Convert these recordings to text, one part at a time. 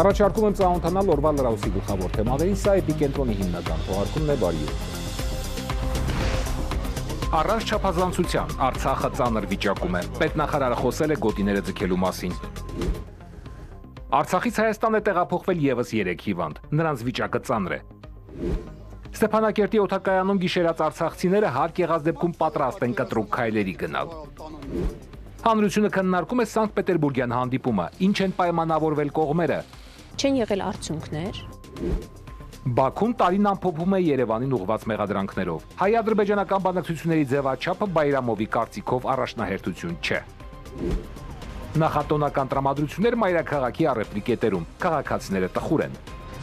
Առաջարկում եմ ծանոթանալ օրվա լրահոսի գլխավոր թեմաներին, սա էպիկենտրոնի հիմնական թողարկումն է, բարի օր։ Առանց չափազանցության Արցախը ծանր վիճակում է։ Պետնախարարը խոսել է գոտիները ձգելու մասին։ Արցախից Հայաստան է տեղափոխվել եւս 3 հիվանդ, նրանց վիճակը ծանր է։ Ստեփանակերտի օդակայանում գիշերած արցախցիները հարկ եղած դեպքում պատրաստ են կտրուկ քայլերի գնալ։ Հանրությունը քննարկում է Սանկտ-Պետերբուրգյան հանդիպումը, ինչ են պայմանավորվել կողմերը։ Չեն եղել արդյունքներ։ Բաքուն տարին ամփոփում է Երևանին ուղղված մեղադրանքներով։ Հայ-ադրբեջանական բանակցությունների ձևաչափը Բայրամովի կարծիքով առաջնահերթություն չէ։ Նախատոնական տրամադրություններ մայրաքաղաքի առևտրի կետերում, քաղաքացիները տխուր են։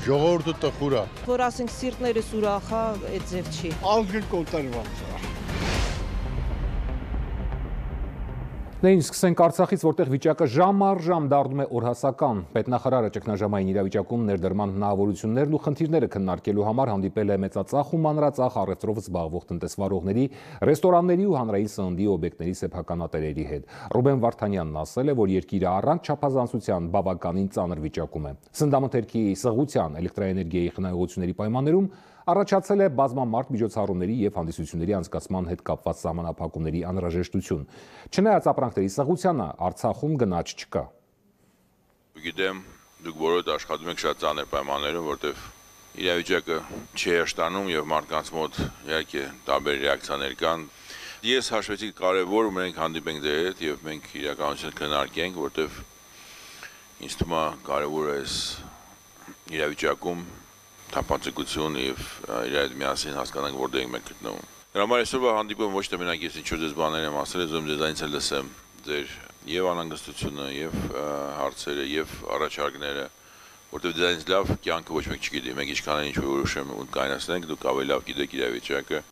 Ժողովուրդը տխուր է։ Որ ասենք սիրտներս ուրախ է, այդ ձև չի։ Ազգը կոտրված է։ Նույն սկսենք Արցախից, որտեղ վիճակը ժամ առ ժամ դառնում է օրհասական։ Պետնախարարը ճգնաժամային իրավիճակում ներդրման հնարավորություններն ու խնդիրները քննարկելու համար հանդիպել է մեծածախ ու մանրածախ առևտրով զբաղվող տնտեսվարողների, ռեստորանների ու հանրային սննդի օբյեկտների սեփականատերերի հետ։ Ռուբեն Վարդանյանն ասել է, որ երկիրը առանց չափազանցության բավականին ծանր վիճակում է։ Սննդամթերքի սղության, էլեկտրաէներգիայի խնայողությունների պայմաններում առաջացել է բազմամարդ միջոցառումների և հանդիսությունների անցկացման հետ կապված սահմանափակումների անհրաժեշտություն։ Չնայած ապրանքների սղությանը, Արցախում գնաճ չկա։ Գիտեմ, դուք բոլորդ աշխատում եք շատ ծանր պայմաններում, որտեղ իրավիճակը չի հեշտանում եւ մարդկանց մոտ իհարկե տարբեր ռեակցիաներ կան։ Ես հաշվեցի կարևոր մենք հանդիպենք ձեր հետ եւ մենք իրականություն քննարկենք, որտեղ ինձ թվում է կարևոր է իրավիճակում թափանցիկություն եւ իրար միասին հասկանանք որտեղ ենք մենք գտնվում։ Դրա համար այսօրվա հանդիպումը ոչ թե մենակ ես ինչ-որ ձեզ բաներ եմ ասել, ուզում ձեզանից էլ լսեմ ձեր եւ անհանգստությունը եւ հարցերը եւ առաջարկները, որտեղ ձեզանից լավ կյանքը ոչ մեկ չգիտի։ Մենք ինչքան էլ ինչ-որ որոշեմ ու կայացնենք, դուք ավելի լավ գիտեք իրավիճակը։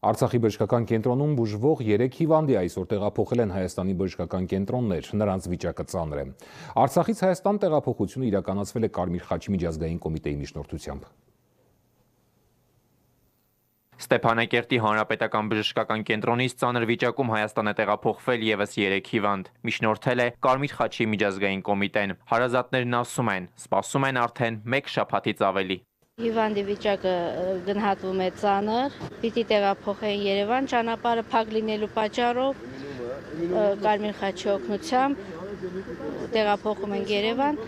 Արցախի բժշկական կենտրոնում բուժվող 3 հիվանդի այսօր տեղափոխել են Հայաստանի բժշկական կենտրոններ, նրանց վիճակը ծանր է։ Արցախից Հայաստան տեղափոխությունը իրականացվել է Կարմիր խաչի միջազգային կոմիտեի միջնորդությամբ։ Ստեփանակերտի հանրապետական բժշկական կենտրոնից ծանր վիճակում Հայաստան է տեղափոխվել եւս 3 հիվանդ։ Միջնորդել է Կարմիր խաչի միջազգային կոմիտեն։ Հարազատներն ասում են, սպասում են արդեն 1 շաբաթից ավելի։ Հիվանդի վիճակը գնահատվում է ծանր, պիտի տեղափոխեն Երևան, ճանապարհը փակ լինելու պատճառով Կարմիր խաչի օգնությամբ տեղափոխում են Երևան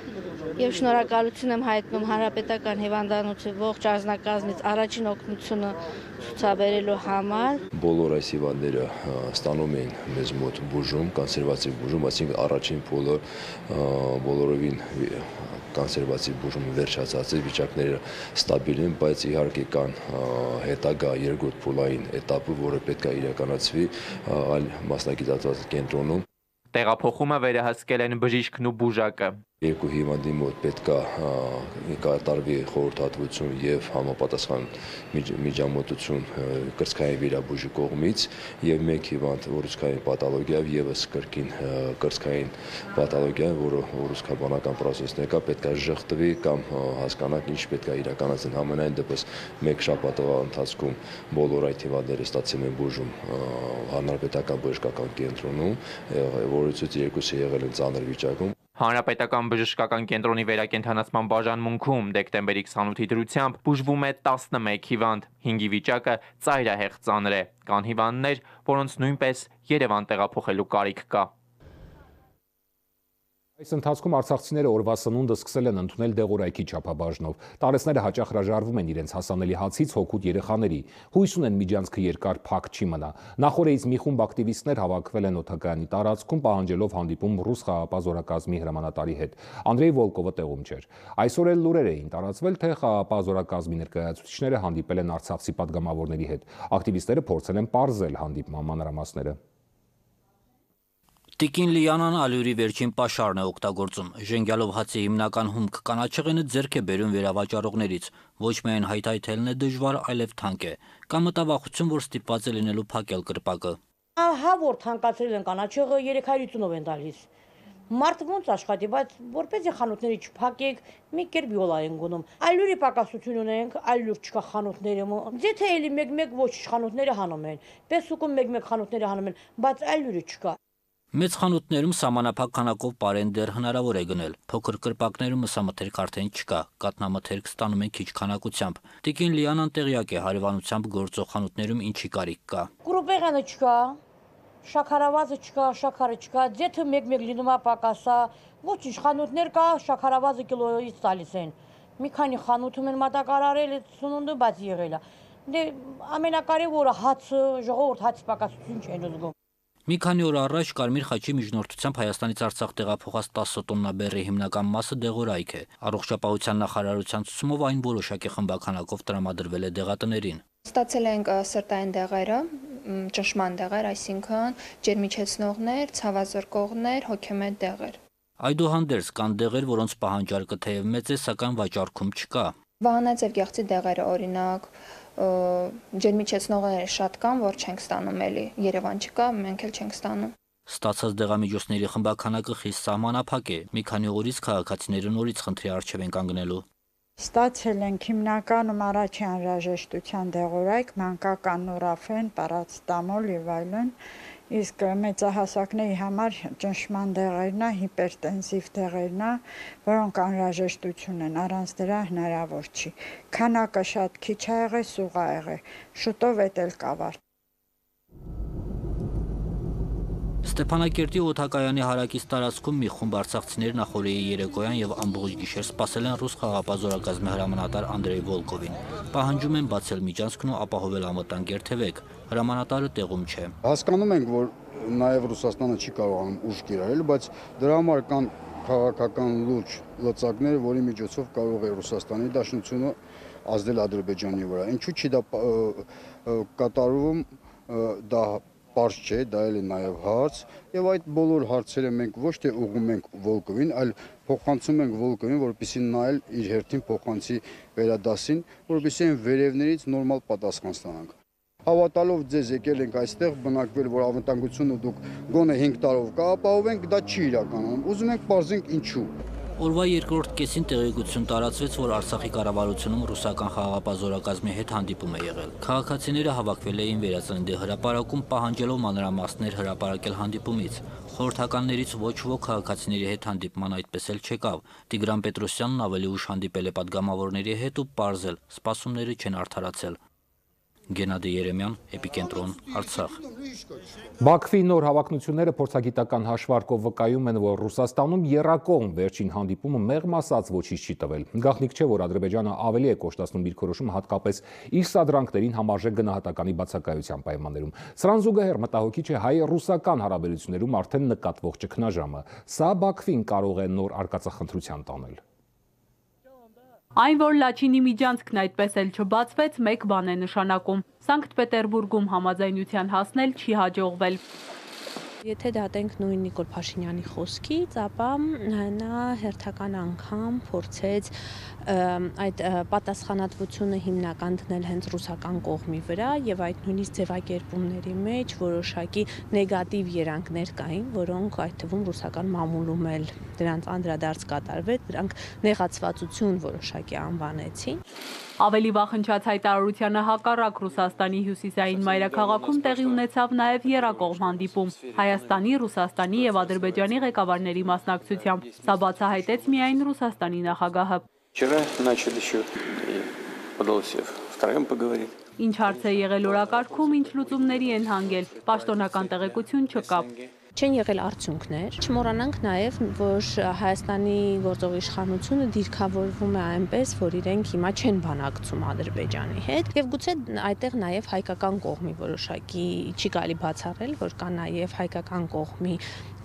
եւ շնորհակալություն եմ հայտնում հանրապետական հիվանդանոցի ողջ անձնակազմից առաջին օգնությունը ցուցաբերելու համար։ Բոլոր այս հիվանդները ստանում են մեզ մոտ բուժում, կոնսերվատիվ բուժում, այսինքն առաջին փուլը բոլորովին կոնսերվատիվ բուժումը վերջացած է, վիճակները ստաբիլ են, բայց իհարկե կան հետագա երկրորդ փուլային էտապը, որը պետք է իրականացվի այլ մասնագիտացված կենտրոնում։ Տեղափոխումը վերահսկել են բժիշկն ու բուժակը։ Երկու հիվանդի մոտ պետք է կատարվի խորհրդատվություն եւ համապատասխան միջամտություն կրծքային վիրաբույժի կողմից եւ մեկ հիվանդ ուռուցքային պաթոլոգիայով եւս կրկին կրծքային պաթոլոգիա, որը ուռուցքաբանական process-ն է, պետք է ժխտվի կամ հասկանանք ինչ պետք է իրականացնել։ Համենայն դեպս մեկ շաբաթվա ընթացքում բոլոր այդ հիվանդները ստացել են բուժում հանրապետական բժշկական կենտրոնում, որից 2-ը եղել են ծանր վիճակում։ Հանրապետական բժշկական կենտրոնի վերակենդանացման բաժանմունքում դեկտեմբերի 28-ի դրությամբ բուժվում է 11 հիվանդ, 5-ի վիճակը ծայրահեղ ծանր է։ Կան հիվանդներ, որոնց նույնպես Երևան տեղափոխելու կարիք կա։ Այս ընթացքում արցախցիները օրվա սնունդը սկսել են ընդունել դեղորայքի չափաբաժնով։ Տարեցները հաճախ հրաժարվում են իրենց հասանելի հացից հօգուտ երեխաների։ Հույս ունեն միջանցքը երկար փակ չի մնա։ Նախորդից մի խումբ ակտիվիստներ հավաքվել են օդակայանի տարածքում, պահանջելով հանդիպում ռուս խաղաղապահ զորակազմի հրամանատարի հետ։ Անդրեյ Վոլկովը տեղում չէր։ Այսօր էլ լուրեր էին տարածվել, թե խաղաղապահ զորակազմի ներկայացուցիչները հանդիպել են արցախցի պատգամավորների հետ։ Ակտիվիստները փորձել են պարզել հանդիպման մանրամասները։ Տիկին Լիանան ալյուրի վերջին պաշարն է օգտագործում։ Ժենգյալով հացի հիմնական հումք կանաչեղենը ձեռք է բերում վերավաճառողներից։ Ոչ միայն հայթայթելն է դժվար, այլև թանկ է։ Կա մտավախություն, որ ստիպված է լինելու փակել կրպակը։ Ահա որ թանկացրել են կանաչեղը 350-ով են տալիս։ Մարդ ոնց աշխատի, բայց որպեսզի խանութները չփակեք, մի կերպ յոլա են գնում։ Ալյուրի պակասություն ունենք, ալյուր չկա խանութներում։ Ձեթե էլի մեկ-մեկ ոչ խանութները հանում են։ Պեսուկում մեկ-մեկ խանութները հանում են, բայց ալյուրը չկա։ Մեծ խանութներում սահմանափակ քանակով պարեն դեռ հնարավոր է գնել։ Փոքր կրպակներում մսամթերք արդեն չկա, կատնամթերք ստանում են քիչ քանակությամբ։ Տիկին Լիանան տեղյակ է հարևանությամբ գործող խանութներում ինչի կարիք կա։ Կրուպեղանը չկա, շաքարավազը չկա, շաքարը չկա, ձեթը մեկ-մեկ լինում է պակասա, ոչինչ խանութներ կա, շաքարավազը կիլոյից տալիս են։ Մի քանի խանութում են մատակարարել, սնունդը բաց եղել է։ Դե ամենակարևորը հացը, ժողովուրդ հացի պակասություն չեն զգում։ Մի քանի օր առաջ Կարմիր խաչի միջնորդությամբ Հայաստանից Արցախ տեղափոխած 10 տոննա բեռի հիմնական մասը դեղորայք է։ Առողջապահության նախարարության ցուցումով այն որոշակի խմբականակով տրամադրվել է դեղատներին։ Ստացել ենք սրտային դեղերը, ճնշման դեղեր, այսինքն ջերմիչեցնողներ, ցավազրկողներ, հոգեմետ դեղեր։ Այդուհանդերձ կան դեղեր, որոնց պահանջարկը թեև մեծ է, սակայն վաճառքում չկա։ Վահանաձև գեղձի դեղերը, օրինակ, ջերմիչեցնողները շատ կան, որ չենք ստանում էլի, Երևան չկա, մենք էլ չենք ստանում։ Ստացած դեղամիջոցների խմբականակը խիստ սահմանափակ է։ Մի քանի օրից քաղաքացիները նորից խնդրի առջև են կանգնելու։ Ստացել ենք հիմնականում առաջի անհրաժեշտության դեղորայք, մանկական նորաֆեն, պարացետամոլ եւ այլն, իսկ մեծահասակների համար ճնշման դեղերն է, հիպերտենսիվ դեղերն է, որոնք անհրաժեշտություն են, առանց դրա հնարավոր չի։ Քանակը շատ քիչ ա եղել, սուղ ա եղել, շուտով էդ էլ կավարտ։ Ստեփանակերտի օդակայանի հարակից տարածքում մի խումբ արցախցիներ նախօրեի երեկոյան եւ ամբողջ գիշեր սպասել են ռուս խաղապահ զորակազմի հրամանատար Անդրեյ Վոլկովին։ Պահանջում են բացել միջանցքն ու ապահովել անվտանգ երթևեք։ Հրամանատարը տեղում չէ։ Հասկանում ենք, որ նաև Ռուսաստանը չի կարողանում ուժ կիրառել, բայց դրա համար կան քաղաքական լուրջ լծակներ, որի միջոցով կարող է Ռուսաստանի Դաշնությունը ազդել Ադրբեջանի վրա։ Ինչու՞ չի դա կատարվում, դա պարզ չէ, դա էլ է նաև հարց, եւ այդ բոլոր հարցերը մենք ոչ թե ուղղում ենք Վոլկովին, այլ փոխանցում ենք Վոլկովին, որպեսզի նա էլ իր հերթին փոխանցի վերադասին, որպեսզի այն վերևներից նորմալ պատասխան ստանանք։ Հավատալով ձեզ եկել ենք այստեղ, բնակվել, որ անվտանգությունը դուք գոնե 5 տարով կապահովենք, դա չի իրականանում։ Ուզում ենք պարզենք ինչու։ Օրվա երկրորդ կեսին տեղեկություն տարածվեց, որ Արցախի կառավարությունում ռուսական խաղաղապահ զորակազմի հետ հանդիպում է եղել։ Քաղաքացիները հավաքվել էին Վերածննդի հրապարակում, պահանջելով մանրամասներ հրապարակել հանդիպումից։ Խորհրդականներից ոչ ոք քաղաքացիների հետ հանդիպման այդպես էլ չեկավ։ Տիգրան Պետրոսյանն ավելի ուշ հանդիպել է պատգամավորների հետ ու պարզել՝ սպասումները չեն արդարացել։ Գենադի Երեմյան, Էպիկենտրոն, Արցախ։ Բաքվի նոր հավակնությունները փորձագիտական հաշվարկով վկայում են, որ Ռուսաստանում եռակողմ վերջին հանդիպումը մեղմ ասած ոչինչ չի տվել։ Գաղտնիք չէ, որ Ադրբեջանը ավելի է կոշտացնում դիրքորոշումը հատկապես իր սադրանքներին համարժեք գնահատականի բացակայության պայմաններում։ Սրան զուգահեռ մտահոգիչ է հայ-ռուսական հարաբերություններում արդեն նկատվող ճգնաժամը։ Սա Բաքվին կարող է նոր արկածախնդրության տանել։ Այն, որ Լաչինի միջանցքն այդպես էլ չբացվեց, մեկ բան է նշանակում։ Սանկտ Պետերբուրգում համաձայնության հասնել չի հաջողվել։ Եթե դատենք նույն Նիկոլ Փաշինյանի խոսքից, ապա նա հերթական անգամ փորձեց այդ պատասխանատվությունը հիմնական դնել հենց ռուսական կողմի վրա եւ այդ նույնիսկ ձևակերպումների մեջ որոշակի նեգատիվ երանգներ կային, որոնք այդ թվում ռուսական մամուլում էլ դրանց անդրադարձ կատարվեց, դրանք նեղացվածություն որոշակի անվանեցին։ Ավելի վախնչած հայտարարությանը հակառակ Ռուսաստանի հյուսիսային մայրաքաղաքում տեղի ունեցավ նաև եռակողմ հանդիպում Հայաստանի, Ռուսաստանի եւ Ադրբեջանի ղեկավարների մասնակցությամբ։ Սա բացահայտեց միայն Ռուսաստանի նախագահը։ Ինչ հարց է եղել օրակարգում, ինչ լուծումների են հանգել, պաշտոնական տեղեկություն չկա։ Չեն եղել արդյունքներ։ Չմոռանանք նաև, որ Հայաստանի գործող իշխանությունը դիրքավորվում է այնպես, որ իրենք հիմա չեն բանակցում Ադրբեջանի հետ, եւ գուցե այդտեղ նաև հայկական կողմի որոշակի չի կարելի բացառել, որ կա նաև հայկական կողմի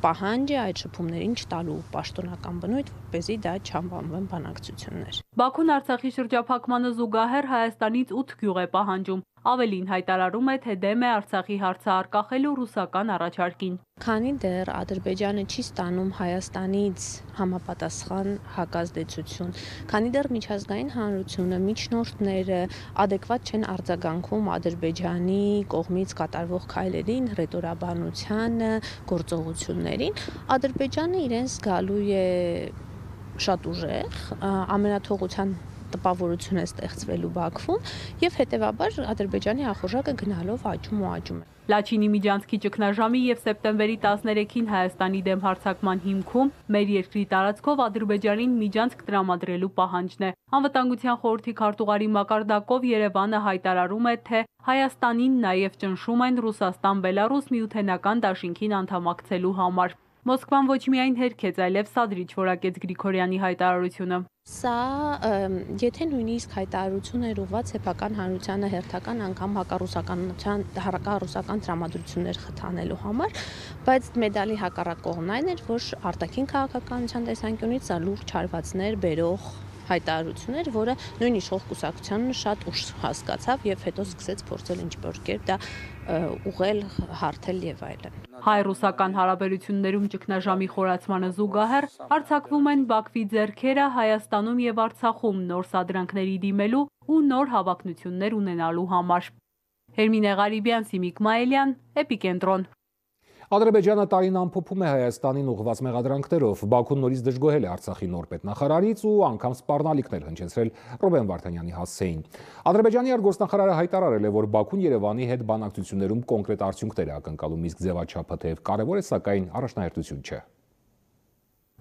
պահանջը այդ շփումներին չտալու պաշտոնական բնույթ, որպեսզի դա չանվանվեն բանակցություններ։ Բաքուն Արցախի շրջափակմանը զուգահեռ Հայաստանից 8 գյուղ է պահանջում։ Ավելին հայտարարում է, թե դեմ է Արցախի հարցը արկախելու ռուսական առաջարկին։ Քանի դեռ Ադրբեջանը չի ստանում Հայաստանից համապատասխան հակազդեցություն, քանի դեռ միջազգային հանրությունը, միջնորդները adekvat չեն արձագանքում Ադրբեջանի կողմից կատարվող քայլերին, հռետորաբանությանը, գործողություններին, Ադրբեջանը իրենց զգալու է շատ ուժեղ, ամենաթողության տպավորություն է ստեղծվելու Բաքվում եւ հետեւաբար Ադրբեջանի ախորժակը գնալով աճում է։ Լաչինի միջանցքի ճգնաժամի եւ սեպտեմբերի 13-ին Հայաստանի դեմ հարձակման հիմքում մեր երկրի տարածքով Ադրբեջանին միջանցք տրամադրելու պահանջն է։ Անվտանգության խորհրդի քարտուղարի մակարդակով Երևանը հայտարարում է, թե Հայաստանին նաև ճնշում են Ռուսաստան-Բելարուս միութենական դաշինքին անդամակցելու համար։ Մոսկվան ոչ միայն հերքեց, այլև սադրիչ որակեց Գրիգորյանի հայտարարությունը։ Սա եթե նույնիսկ հայտարարություն էր ուղղված սեփական հանրությանը հերթական անգամ հակառուսական տրամադրություններ խթանելու համար, բայց մեդալի հակառակ կողմն այն էր, որ արտաքին քաղաքականության տեսանկյունից սա լուրջ հարվածներ բերող հայտարարություններ, որը նույն իշխող կուսակցությանը շատ ուշ հասկացավ եւ հետո սկսեց փորձել ինչ-որ կերպ դա ուղղել, հարթել եւ այլն։ Հայ-ռուսական հարաբերություններում ճգնաժամի խորացմանը զուգահեռ արձակվում են Բաքվի ձեռքերը Հայաստանում եւ Արցախում նոր սադրանքների դիմելու ու նոր հավակնություններ ունենալու համար։ Հերմինե Ղարիբյան, Սիմիկ Մայելյան, Էպիկենտրոն։ Ադրբեջանը տարին ամփոփում է Հայաստանին ուղղված մեղադրանքներով, Բաքուն նորից դժգոհել է Արցախի նոր պետնախարարից ու անգամ սպառնալիքներ հնչեցրել Ռուբեն Վարդանյանի հասցեին։ Ադրբեջանի արտգործնախարարը հայտարարել է, որ Բաքուն Երևանի հետ բանակցություններում կոնկրետ արդյունքներ է ակնկալում, իսկ ձևաչափը թեև կարևոր է, սակայն առաջնահերթություն չէ։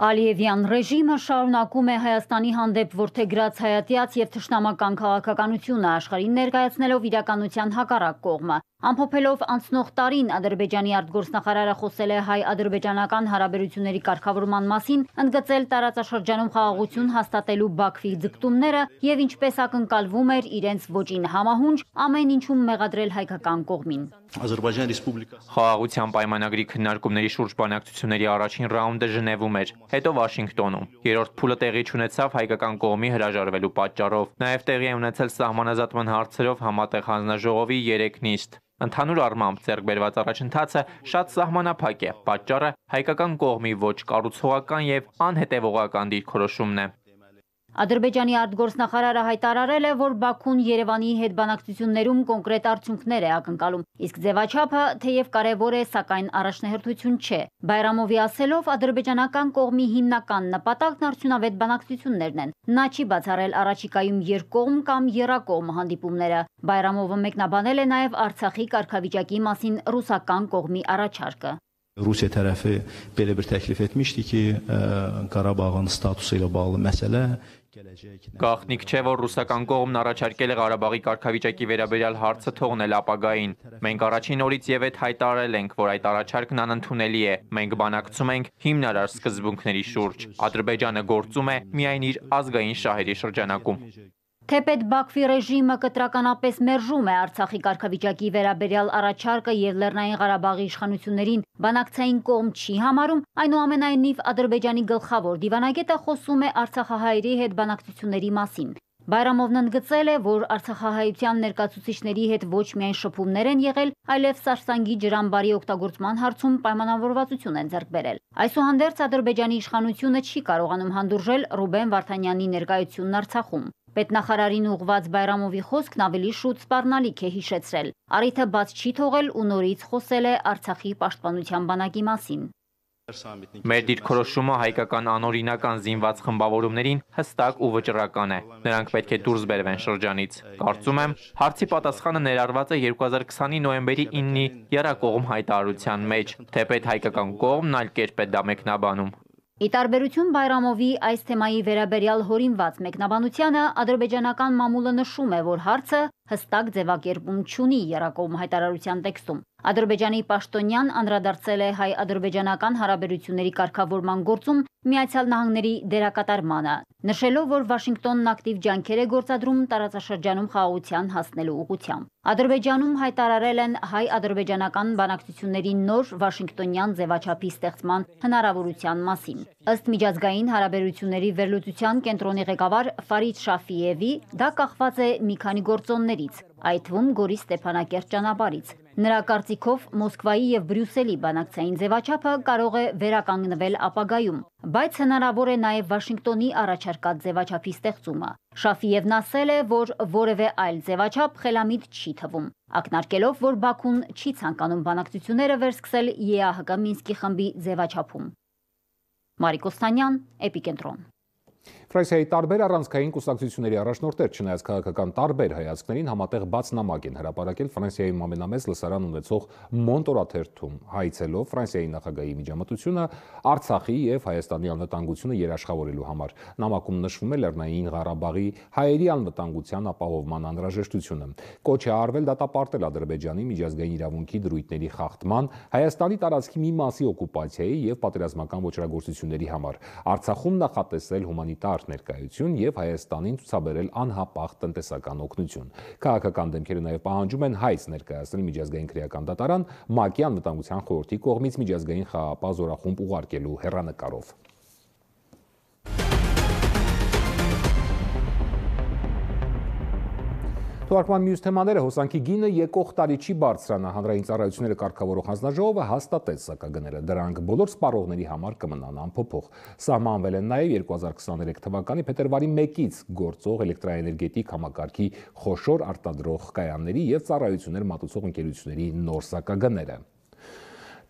Ալիևյան ռեժիմը շարունակում է Հայաստանի հանդեպ որդեգրած հայատյաց եւ թշնամական քաղաքականությունը աշխարհին ներկայացնելով իրականության հակառակ կողմը։ Ամփոփելով անցնող տարին Ադրբեջանի արտգործնախարարը խոսել է հայ-ադրբեջանական հարաբերությունների կարգավորման մասին, ընդգծել տարածաշրջանում խաղաղություն հաստատելու Բաքվի ձգտումները եւ ինչպես ակնկալվում էր իրենց ոճին համահունչ ամեն ինչում մեղադրել հայկական կողմին։ Խաղաղության պայմանագրի քննարկումների շուրջ բանակցությունների առաջին ռաունդը Ժնևում էր, հետո Վաշինգտոնում։ Երրորդ փուլը տեղի չունեցավ հայկական կողմի հրաժարվելու պատճառով։ Նաև տեղի է ունեցել սահմանազատման հարցերով համատեղ հանձնաժողովի 3 նիստ։ Ընդհանուր առմամբ ձեռք բերված առաջընթացը շատ սահմանափակ է, պատճառը հայկական կողմի ոչ կառուցողական եւ անհետեւողական դիրքորոշումն է։ Ադրբեջանի արտգործնախարարը հայտարարել է, որ Բաքուն Երևանի հետ բանակցություններում կոնկրետ արդյունքներ է ակնկալում, իսկ ձևաչափը թեև կարևոր է, սակայն առաջնահերթություն չէ։ Բայրամովի ասելով, ադրբեջանական կողմի հիմնական նպատակն արդյունավետ բանակցություններն են։ Նա չի բացառել առաջիկայում երկկողմ կամ եռակողմ հանդիպումները։ Բայրամովը մեկնաբանել է նաև Արցախի կարգավիճակի մասին ռուսական կողմի առաջարկը։ Rusiya tərəfi belə bir təklif etmişdi ki, Qarabağın statusu ilə bağlı məsələ Գաղտնիք չէ, որ ռուսական կողմն առաջարկել է Ղարաբաղի կարգավիճակի վերաբերյալ հարցը թողնել ապագային։ Մենք առաջին օրից եւ այդ հայտարարել ենք, որ այդ առաջարկն անընդունելի է։ Մենք բանակցում ենք հիմնարար սկզբունքների շուրջ։ Ադրբեջանը գործում է միայն իր ազգային շահերի շրջանակում։ Թեպետ Բաքվի ռեժիմը կտրականապես մերժում է Արցախի կարգավիճակի վերաբերյալ առաջարկը եւ Լեռնային Ղարաբաղի իշխանություններին բանակցային կողմ չի համարում, այնուամենայնիվ Ադրբեջանի գլխավոր դիվանագետը խոսում է արցախահայերի հետ բանակցությունների մասին։ Բայրամովն ընդգծել է, որ արցախահայության ներկայացուցիչների հետ ոչ միայն շփումներ են եղել, այլև Սարսանգի ջրամբարի օգտագործման հարցում պայմանավորվածություն են ձեռք բերել։ Այսուհանդերձ Ադրբեջանի իշխանությունը չի կարողանում հանդուրժել Ռուբեն Վարդանյանի ներկայությունն Արցախում։ Պետնախարարին ուղղված Բայրամովի խոսքն ավելի շուտ սպառնալիք է հիշեցրել։ Առիթը բաց չի թողել ու նորից խոսել է Արցախի պաշտպանության բանակի մասին։ Մեր դիրքորոշումը հայկական անօրինական զինված խմբավորումներին հստակ ու վճռական է։ Նրանք պետք է դուրս բերվեն շրջանից։ Կարծում եմ, հարցի պատասխանը ներառված է 2020-ի նոյեմբերի 9-ի եռակողմ հայտարարության մեջ, թեպետ հայկական կողմն այլ կերպ է դա մեկնաբանում։ Ի տարբերություն Բայրամովի այս թեմայի վերաբերյալ հորինված մեկնաբանությանը, ադրբեջանական մամուլը նշում է, որ հարցը հստակ ձևակերպում չունի եռակողմ հայտարարության տեքստում։ Ադրբեջանի պաշտոնյան անդրադարձել է հայ-ադրբեջանական հարաբերությունների կարգավորման գործում Միացյալ Նահանգների դերակատարմանը, նշելով, որ Վաշինգտոնն ակտիվ ջանքեր է գործադրում տարածաշրջանում խաղաղության հասնելու ուղղությամբ։ Ադրբեջանում հայտարարել են հայ-ադրբեջանական բանակցությունների նոր Վաշինգտոնյան ձևաչափի ստեղծման հնարավորության մասին։ Ըստ միջազգային հարաբերությունների վերլուծության կենտրոնի ղեկավար Ֆարիդ Շաֆիևի, դա կախված է մի քանի գործոններից, այդ թվում Գորի Ստեփանակերտ ճանապարհից։ Նրա կարծիքով Մոսկվայի եւ Բրյուսելի բանակցային ձևաչափը կարող է վերականգնվել ապագայում, բայց հնարավոր է նաեւ Վաշինգտոնի առաջարկած ձևաչափի ստեղծումը։ Շաֆիևն ասել է, որ որևէ այլ ձևաչափ խելամիտ չի թվում, ակնարկելով, որ Բաքուն չի ցանկանում բանակցությունները վերսկսել ԵԱՀԿ Մինսկի խմբի ձևաչափում։ Մարիկ Օստանյան, Էպիկենտրոն։ Ֆրանսիայի տարբեր առանցքային կուսակցությունների առաջնորդներ, չնայած քաղաքական տարբեր հայացքներին, համատեղ բաց նամակ են հրապարակել Ֆրանսիայում ամենամեծ լսարան ունեցող Մոնտորաթերթում, հայցելով Ֆրանսիայի նախագահի միջամտությունը Արցախի եւ Հայաստանի անվտանգությունը երաշխավորելու համար։ Նամակում նշվում է Լեռնային Ղարաբաղի հայերի անվտանգության ապահովման անհրաժեշտությունը։ Կոչ է արվել դատապարտել Ադրբեջանի միջազգային իրավունքի դրույթների խախտման, Հայաստանի տարածքի մի մասի օկուպացիայի եւ պատերազմական ոչռագործությունների համար, Արցախում նախատեսել հումանիտար ներկայություն եւ Հայաստանին ցուցաբերել անհապաղ տնտեսական օգնություն։ Քաղաքական դեմքերը նաեւ պահանջում են հայց ներկայացնել միջազգային քրեական դատարան ՄԱԿ-ի անվտանգության խորհրդի կողմից միջազգային խաղաղապահ զորախումբ ուղարկելու հեռանկարով։ Թվարկման մյուս թեմաները հոսանքի գինը եկող տարի չի բարձրանա, հանրային ծառայությունները կարգավորող հանձնաժողովը հաստատեց սակագները, դրանք բոլոր սպառողների համար կմնան անփոփոխ։ Սահմանվել են նաև 2023 թվականի փետրվարի 1-ից գործող էլեկտրաէներգետիկ համակարգի խոշոր արտադրող կայանների եւ ծառայություններ մատուցող ընկերությունների նոր սակագները։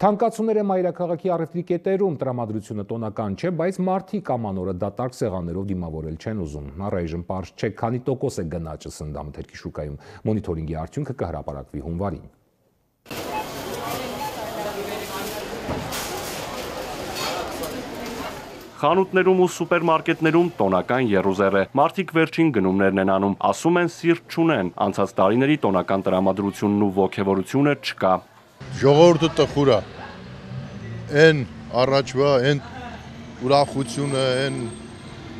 Թանկացումներ է մայրաքաղաքի առևտրի կետերում, տրամադրությունը տոնական չէ, բայց մարդիկ ամանորը դատարկ սեղաններով դիմավորել չեն ուզում։ Առայժմ պարզ չէ, քանի տոկոս է գնաճը սննդամթերքի շուկայում։ Մոնիթորինգի արդյունքը կհրապարակվի հունվարին։ Խանութներում ու սուպերմարկետներում տոնական եռուզեռ է։ Մարդիկ վերջին գնումներն են անում, ասում են սիրտ չունեն, անցած տարիների տոնական տրամադրությունն ու ոգևորությունը չկա։ Ժողովուրդը տխուր է, այն առաջվա, այն ուրախությունը, այն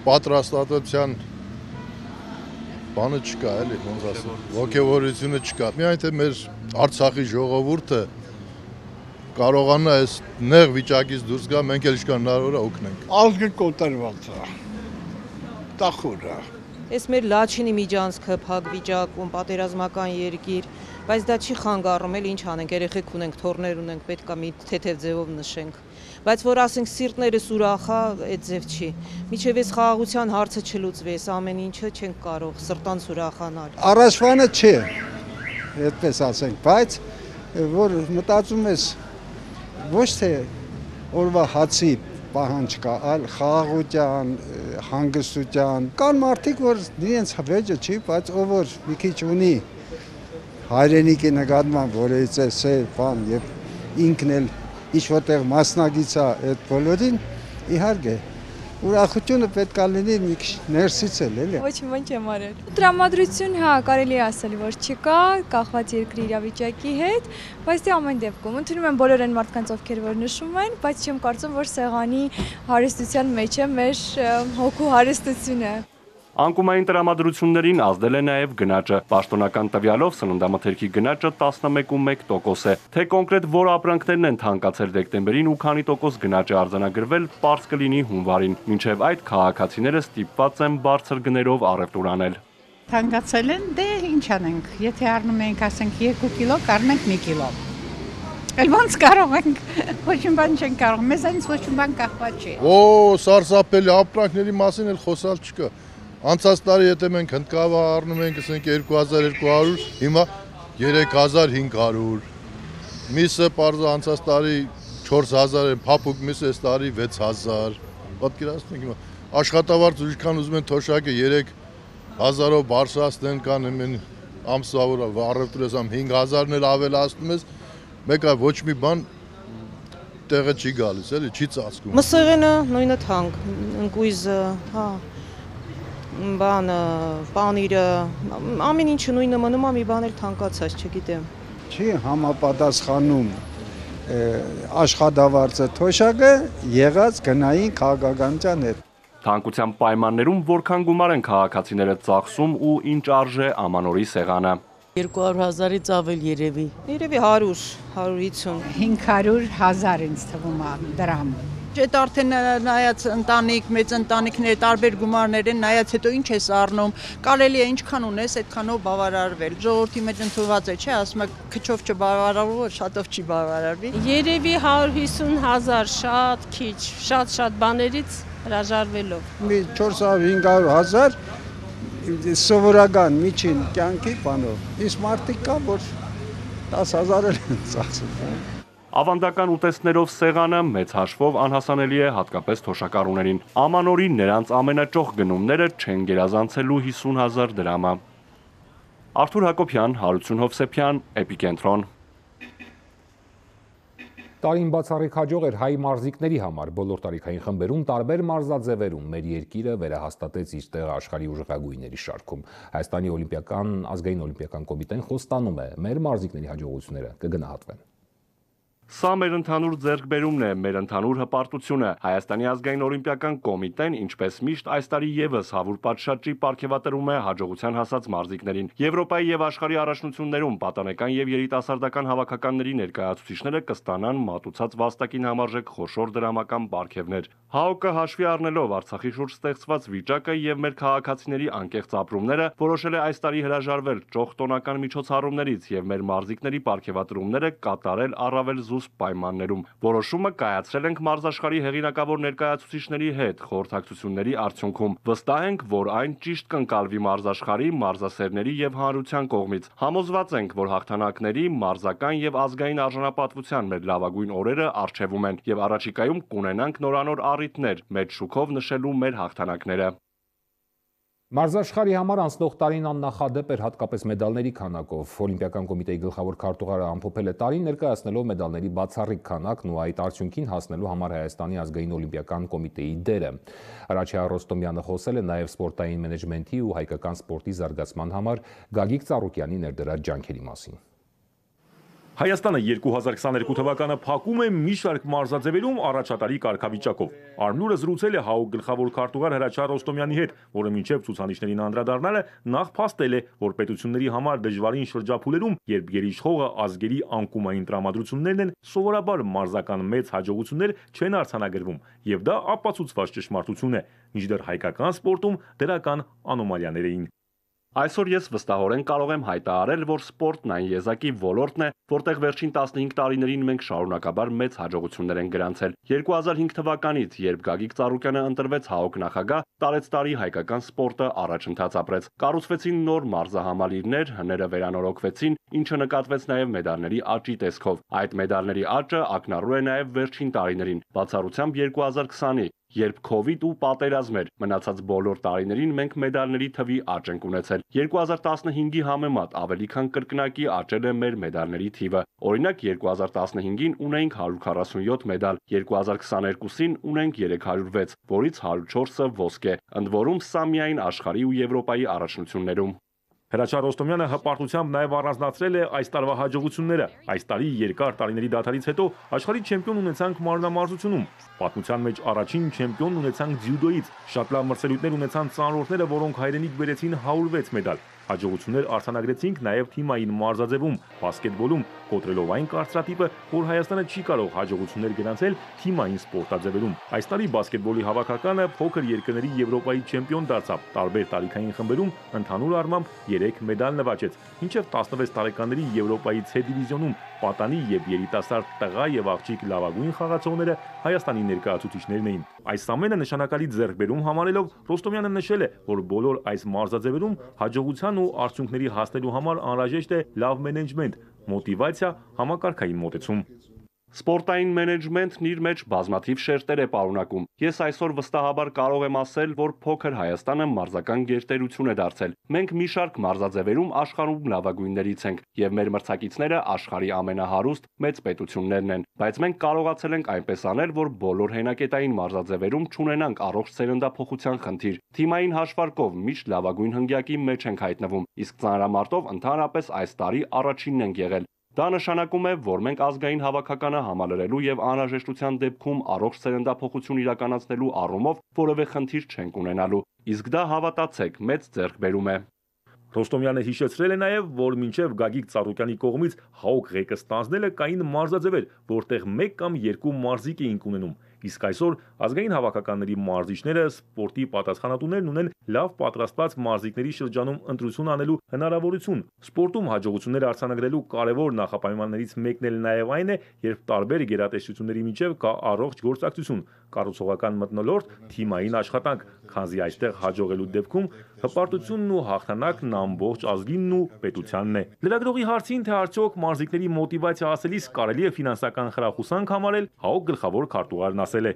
պատրաստատության բանը չկա, էլի, ոնց ասեմ, ոգևորությունը չկա։ Միայն թե մեր Արցախի ժողովուրդը կարողանա այս նեղ վիճակից դուրս գա, մենք էլ ինչքան հնարավոր է օգնենք։ Ազգը կոտրված է, տխուր է։ Այս մեր Լաչինի միջանցքը փակ վիճակում, պատերազմական երկիր, բայց դա չի խանգարում, էլ ինչ անենք, երեխեք ունենք, թոռներ ունենք, պետք է մի թեթև ձևով նշենք։ Բայց որ ասենք սիրտներս ուրախ է, այդ ձև չի։ Միջև այս խաղաղության հարցը չլուծվի, այս ամեն ինչը չենք կարող սրտանց ուրախանալ։ Առաջվանը չէ, այդպես ասենք, բայց որ մտածում ես ոչ թե օրվա հացի պահանջ կա, այլ խաղաղության, հանգստության։ Կան մարդիկ, որ իրենց վեճը չի, բայց ով որ մի քիչ ունի հայրենիքի նկատմամբ, որ էս է բան եւ ինքն էլ ինչ որտեղ մասնագից է այդ բոլորին, իհարկե ուրախությունը պետք է լինի մի քիչ ներսից էլի։ Ոչ մի բան չեմ արել։ Տրամադրություն, հա, կարելի է ասել, որ չկա, կախված երկրի իրավիճակի հետ, բայց դե ամեն դեպքում ընդունում եմ բոլոր այն մարդկանց, ովքեր որ նշում են, բայց չեմ կարծում, որ սեղանի հարստության մեջ է մեր հոգու հարստությունը։ Անկումային տրամադրություններին ազդել է նաև գնաճը։ Պաշտոնական տվյալով սննդամթերքի գնաճը 11.1% է։ Թե կոնկրետ որ ապրանքներն են թանկացել դեկտեմբերին ու քանի տոկոս գնաճ է արձանագրվել, պարզ կլինի հունվարին։ Մինչև այդ քաղաքացիները ստիպված են բարձր գներով առևտուր անել։ Թանկացել են, դե ինչ անենք, եթե առնում ենք, ասենք 2 կիլո, կառնենք 1 կիլո։ Էլ ոնց կարող ենք, ոչ մի բան չենք կարող, մեզանից ոչ մի բան կախված չի։ Օ, սարսափելի ապրանքների մասին էլ խոսալ չկա։ Անցած տարի եթե մենք հնդկավա առնում ենք, ասենք 2200, հիմա 3500։ Միսը պարզը անցած տարի 4000 են, փափուկ միսը այս տարի 6000։ Պատկերացնեք հիմա աշխատավարձ ուրիշքան ուզում են թոշակը 3000-ով բարձրացնեն կան ամեն ամսվա որ առևտուրը 5000-ն էլ ավելացնում ես, մեկը ոչ մի բան տեղը չի գալիս, էլի չի ծածկում։ Մսեղենը նույնը թանկ, ընկույզը, հա, բանը, պանիրը, ամեն ինչը նույնը մնում է, մի բան էլ թանկացած, չգիտեմ։ Չի համապատասխանում աշխատավարձը թոշակը եղած գնային քաղաքականության հետ։ Թանկության պայմաններում որքան գումար են քաղաքացիները ծախսում ու ինչ արժե ամանորի սեղանը։ 200,000-ից ավել երևի։ Երևի 100-150։ 500,000 ինձ թվում է դրամ։ Այդ արդեն նայած ընտանիք, մեծ ընտանիքներ, տարբեր գումարներ են, նայած հետո ինչ ես առնում, կարելի է ինչքան ունես, այդքանով բավարարվել։ Ժողովրդի մեջ ընդունված է, չէ, ասում եք քչով չբավարարվող, շատով չի բավարարվի։ Երևի 150,000, շատ քիչ, շատ բաներից հրաժարվելով։ Մի 400-500,000 սովորական միջին կյանքի բանով։ Իսկ մարդիկ կա, որ 10,000 են ծախսում։ Ավանդական ուտեստներով սեղանը մեծ հաշվով անհասանելի է հատկապես թոշակառուներին։ Ամանորին նրանց ամենաճոխ գնումները չեն գերազանցելու 50,000 դրամը։ Արթուր Հակոբյան, Հարություն Հովսեփյան, Էպիկենտրոն։ Տարին բացառիկ հաջող էր հայ մարզիկների համար բոլոր տարիքային խմբերում տարբեր մարզաձևերում մեր երկիրը վերահաստատեց իր տեղը աշխարհի ուժեղագույնների շարքում։ Հայաստանի ազգային օլիմպիական կոմիտեն խոստանում է մեր մարզիկների հաջողությունները կգնահատվեն։ Սա մեր ընդհանուր ձեռքբերումն է, մեր ընդհանուր հպարտությունը։ Հայաստանի ազգային օլիմպիական կոմիտեն, ինչպես միշտ, այս տարի եւս հավուր պատշաճի պարգևատրում է հաջողության հասած մարզիկներին։ Եվրոպայի եւ աշխարհի առաջնություններում պատանեկան եւ երիտասարդական հավաքականների ներկայացուցիչները կստանան մատուցած վաստակին համարժեք խոշոր դրամական պարգևներ։ ՀԱՕԿ-ը հաշվի առնելով Արցախի շուրջ ստեղծված վիճակը եւ մեր քաղաքացիների անկեղծ ապրումները, որոշել է այս տարի հրաժարվել ճոխ տոնական միջոցառումներից եւ մեր մարզիկների պարգևատրումները կատարել առավել զուսպ պայմաններում։ Որոշումը կայացրել ենք մարզաշխարհի հեղինակավոր ներկայացուցիչների հետ խորհրդակցությունների արդյունքում։ Վստահ ենք, որ այն ճիշտ կընկալվի մարզաշխարհի, մարզասերների եւ հանրության կողմից։ Համոզված ենք, որ հաղթանակների, մարզական եւ ազգային արժանապատվության մեր լավագույն օրերը առջևում են եւ առաջիկայում կունենանք նորանոր առիթներ մեծ շուքով նշելու մեր հաղթանակները։ Մարզաշխարհի համար անցնող տարին աննախադեպ էր հատկապես մեդալների քանակով։ Օլիմպիական կոմիտեի գլխավոր քարտուղարը ամփոփել է տարին ներկայացնելով մեդալների բացառիկ քանակն ու այդ արդյունքին հասնելու համար Հայաստանի ազգային օլիմպիական կոմիտեի դերը։ Հրաչյա Ռոստոմյանը խոսել է նաև սպորտային մենեջմենթի ու հայկական սպորտի զարգացման համար Գագիկ Ծառուկյանի ներդրած ջանքերի մասին։ Հայաստանը 2022 թվականը փակում է մի շարք մարզաձևերում առաջատարի կարգավիճակով։ Արմնուրը զրուցել է ՀԱՕԿ գլխավոր քարտուղար Հրաչյա Ռոստոմյանի հետ, որը մինչև ցուցանիշներին անդրադառնալը նախ փաստել է, որ պետությունների համար դժվարին շրջափուլերում, երբ գերիշխողը ազգերի անկումային տրամադրություններն են, սովորաբար մարզական մեծ հաջողություններ չեն արձանագրվում, եւ դա ապացուցված ճշմարտություն է, մինչդեռ հայկական սպորտում դրական անոմալիաներ էին։ Այսօր ես վստահորեն կարող եմ հայտարարել, որ սպորտն այն եզակի ոլորտն է, որտեղ վերջին 15 տարիներին մենք շարունակաբար մեծ հաջողություններ ենք գրանցել։ 2005 թվականից, երբ Գագիկ Ծառուկյանը ընտրվեց ՀԱՕԿ նախագահ, տարեցտարի հայկական սպորտը առաջընթաց ապրեց։ Կառուցվեցին նոր մարզահամալիրներ, հները վերանորոգվեցին, ինչը նկատվեց նաև մեդալների աճի տեսքով։ Այդ մեդալների աճը ակնառու է նաև վերջին տարիներին, բացառությամբ 2020-ի, երբ COVID ու պատերազմ էր, մնացած բոլոր տարիներին մենք մեդալների թվի աճ ենք ունեցել։ 2015-ի համեմատ ավելի քան կրկնակի աճել է մեր մեդալների թիվը։ Օրինակ 2015-ին ունեինք 147 մեդալ, 2022-ին ունենք 306, որից 104-ը ոսկե, ընդ որում սա միայն աշխարհի ու Եվրոպայի առաջնություններում։ Հրաչյա Ռոստոմյանը հպարտությամբ նաև առանձնացրել է այս տարվա հաջողությունները։ Այս տարի երկար տարիների դադարից հետո աշխարհի չեմպիոն ունեցանք մարզամարզությունում։ Պատմության մեջ առաջին չեմպիոն ունեցանք ձյուդոից։ Շատ լավ մրցելույթներ ունեցան ծանրորդները, որոնք հայրենիք բերեցին 106 մեդալ։ Հաջողություններ արձանագրեցինք նաև թիմային մարզաձևում, բասկետբոլում, կոտրելով այն կարծրատիպը, որ Հայաստանը չի կարող հաջողություններ գրանցել թիմային սպորտաձևերում։ Այս տարի բասկետբոլի հավաքականը փոքր երկրների Եվրոպայի չեմպիոն դարձավ։ Տարբեր տարիքային խմբերում ընդհանուր առմամբ 3 մեդալ նվաճեց, մինչև 16 տարեկանների Եվրոպայի C դիվիզիոնում պատանի եւ երիտասարդ տղա եւ աղջիկ լավագույն խաղացողները Հայաստանի ներկայացուցիչներն էին։ Այս ամենը նշանակալի ձեռքբերում համարելով Ռոստոմյանը նշել է, որ բոլոր այս մարզաձևերում հաջողության ու արդյունքների հասնելու համար անհրաժեշտ է լավ մենեջմենտ, մոտիվացիա, համակարգային մոտեցում։ Սպորտային մենեջմենթն իր մեջ բազմաթիվ շերտեր է պարունակում։ Ես այսօր վստահաբար կարող եմ ասել, որ փոքր Հայաստանը մարզական գերտերություն է դարձել։ Մենք մի շարք մարզաձևերում աշխարհում լավագույններից ենք, եւ մեր մրցակիցները աշխարհի ամենահարուստ մեծ պետություններն են։ Բայց մենք կարողացել ենք այնպես անել, որ բոլոր հենակետային մարզաձևերում չունենանք առողջ սերնդափոխության խնդիր։ Թիմային հաշվարկով միշտ լավագույն հնգյակի մեջ ենք հայտնվում, իսկ ծանրամարտով ընդհանրապես այս տարի առաջինն ենք եղել։ Դա նշանակում է, որ մենք ազգային հավաքականը համալրելու եւ անհրաժեշտության դեպքում առողջ սերնդափոխություն իրականացնելու առումով որևէ խնդիր չենք ունենալու։ Իսկ դա հավատացեք, մեծ ձեռքբերում է։ Ռոստոմյանը հիշեցրել է նաև, որ մինչև Գագիկ Ծառուկյանի կողմից ՀԱՕԿ ղեկը ստանձնելը կային մարզաձևեր, որտեղ 1 կամ 2 մարզիկ էինք ունենում։ Իսկ այսօր ազգային հավաքականների մարզիչները սպորտի պատասխանատուներն ունեն լավ պատրաստված մարզիկների շրջանում ընտրություն անելու հնարավորություն։ Սպորտում հաջողություններ արձանագրելու կարևոր նախապայմաններից մեկն էլ նաև այն է, երբ տարբեր գերատեսչությունների միջև կա առողջ գործակցություն, կառուցողական մթնոլորտ, թիմային աշխատանք, քանզի այստեղ հաջողելու դեպքում հպարտությունն ու հաղթանակն ամբողջ ազգինն ու պետությանն է։ Լրագրողի հարցին, թե արդյոք մարզիկների մոտիվացիա ասելիս կարելի է ֆինանսական խրախուսանք համարել, ՀԱՕԿ գլխավոր քարտուղարն ասել է.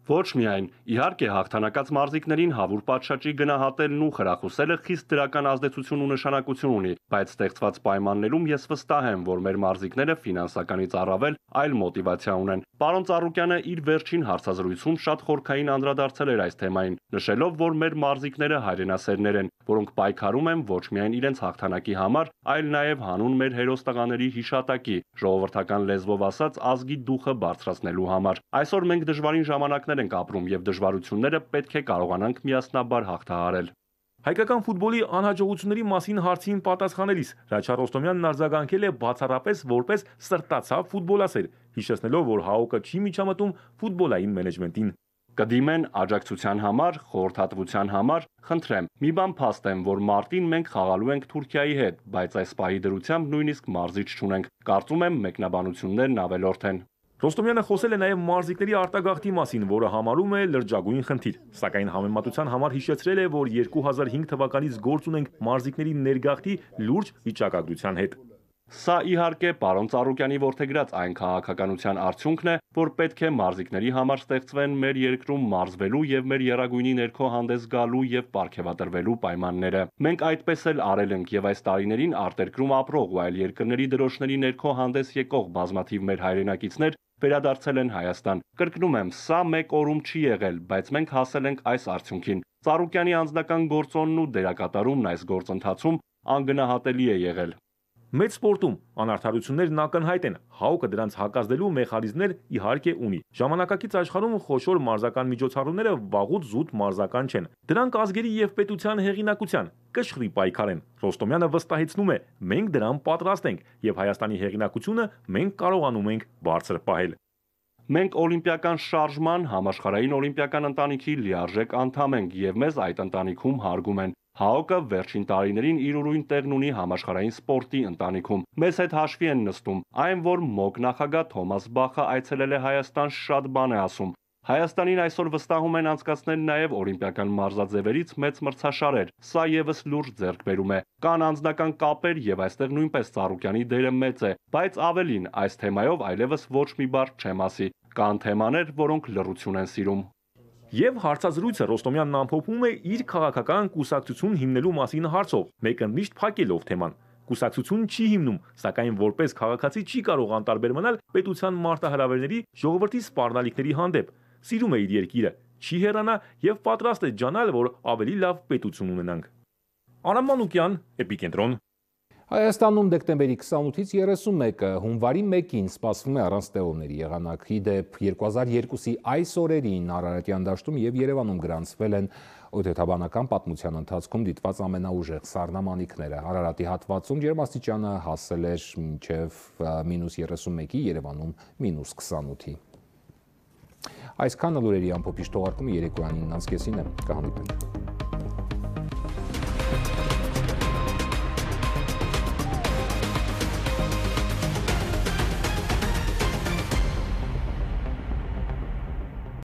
Ոչ միայն, իհարկե հաղթանակած մարզիկներին հավուր պատշաճի գնահատելն ու խրախուսելը խիստ դրական ազդեցություն ու նշանակություն ունի, բայց ստեղծված պայմաններում ես վստահ եմ, որ մեր մարզիկները ֆինանսականից առավել այլ մոտիվացիա ունեն։ Պարոն Ծառուկյանը իր վերջին հարցազրույցում շատ խորքային անդրադարձել էր այս թեմային, նշելով, որ մեր մարզիկները հայրենասերներ են, որոնք պայքարում են ոչ միայն իրենց հաղթանակի համար, այլ նաև հանուն մեր հերոս տղաների հիշատակի, ժողովրդական լեզվով ասած ազգի դուխը բարձրացնելու համար։ Այսօր մենք դժվարին ժամանակներ ենք ապրում եւ դժվարությունները պետք է կարողանանք միասնաբար հաղթահարել։ Հայկական ֆուտբոլի անհաջողությունների մասին հարցին պատասխանելիս Ռաչա Ռոստոմյանն արձագանքել է բացառապես որպես սրտացավ ֆուտբոլասեր, հիշեցնելով, որ ՀԱՕԿ-ը չի միջամտում ֆուտբոլային մենեջմենտին։ Կդիմեն աջակցության համար, խորհրդատվության համար, խնդրեմ, մի բան փաստ եմ, որ մարտին մենք խաղալու ենք Թուրքիայի հետ, բայց այս պահի դրությամբ նույնիսկ մարզիչ չունենք։ Կարծում եմ մեկնաբանություններն ավելորդ են։ Ռոստոմյանը խոսել է նաև մարզիկների արտագաղթի մասին, որը համարում է լրջագույն խնդիր, սակայն համեմատության համար հիշեցրել է, որ 2005 թվականից գործ ունենք մարզիկների ներգաղթի լուրջ վիճակագրության հետ։ Սա իհարկե պարոն Ծառուկյանի որդեգրած այն քաղաքականության արդյունքն է, որ պետք է մարզիկների համար ստեղծվեն մեր երկրում մարզվելու եւ մեր եռագույնի ներքո հանդես գալու եւ պարգևատրվելու պայմանները։ Մենք այդպես էլ արել ենք եւ այս տարիներին արտերկրում ապրող ու այլ երկրների դրոշների ներքո հանդես եկող բազմաթիվ մեր հայրենակիցներ վերադարձել են Հայաստան։ Կրկնում եմ, սա մեկ օրում չի եղել, բայց մենք հասել ենք այս արդյունքին։ Ծառուկյանի անձնական գործոնն ու դերակատարումն այս գործընթացում անգնահատելի է եղել։ Մեծ սպորտում անարդարություններն ակնհայտ են, ՀԱՕԿ-ը դրանց հակազդելու մեխանիզմներ իհարկե ունի։ Ժամանակակից աշխարհում խոշոր մարզական միջոցառումները վաղուց զուտ մարզական չեն։ Դրանք ազգերի եւ պետության հեղինակության կշռի պայքար են։ Ռոստոմյանը վստահեցնում է, մենք դրան պատրաստ ենք եւ Հայաստանի հեղինակությունը մենք կարողանում ենք բարձր պահել։ Մենք օլիմպիական շարժման համաշխարհային օլիմպիական ընտանիքի լիարժեք անդամ ենք եւ մեզ այդ ընտանիքում հարգում են։ ՀԱՕԿ-ը վերջին տարիներին իր ուրույն տեղն ունի համաշխարհային սպորտի ընտանիքում։ Մեզ հետ հաշվի են նստում, այն որ ՄՕԿ նախագահ Թոմաս Բախը այցելել է Հայաստան, շատ բան է ասում։ Հայաստանին այսօր վստահում են անցկացնել նաև օլիմպիական մարզաձևերից մեծ մրցաշարեր։ Սա եւս լուրջ ձեռքբերում է։ Կան անձնական կապեր եւ այստեղ նույնպես Ծառուկյանի դերը մեծ է, բայց ավելին, այս թեմայով այլևս ոչ մի բառ չեմ ասի։ Կան թեմաներ, որոնք լռություն են սիրում։ Եվ հարցազրույցը Ռոստոմյանն ամփոփում է իր քաղաքական կուսակցություն հիմնելու մասին հարցով, մեկընդմիշտ փակելով թեման։ Կուսակցություն չի հիմնում, սակայն որպես քաղաքացի չի կարող անտարբեր մնալ պետության մարտահրավերների, ժողովրդի սպառնալիքների հանդեպ։ Սիրում է իր երկիրը, չի հեռանա եւ պատրաստ է ջանալ, որ ավելի լավ պետություն ունենանք։ Արամ Մանուկյան, Էպիկենտրոն։ Հայաստանում դեկտեմբերի 28-ից 31-ը հունվարի 1-ին սպասվում է առանց տեղումների եղանակ։ Ի դեպ 2002-ի այս օրերին Արարատյան դաշտում եւ Երևանում գրանցվել են օդեթաբանական պատմության ընթացքում դիտված ամենաուժեղ սառնամանիքները։ Արարատի հատվածում ջերմաստիճանը հասել էր մինչև -31-ի, Երևանում -28-ի։ Այսքանը լուրերի ամփոփիչ թողարկումը երեկոյան 9:30-ին է։ Կհանդիպենք։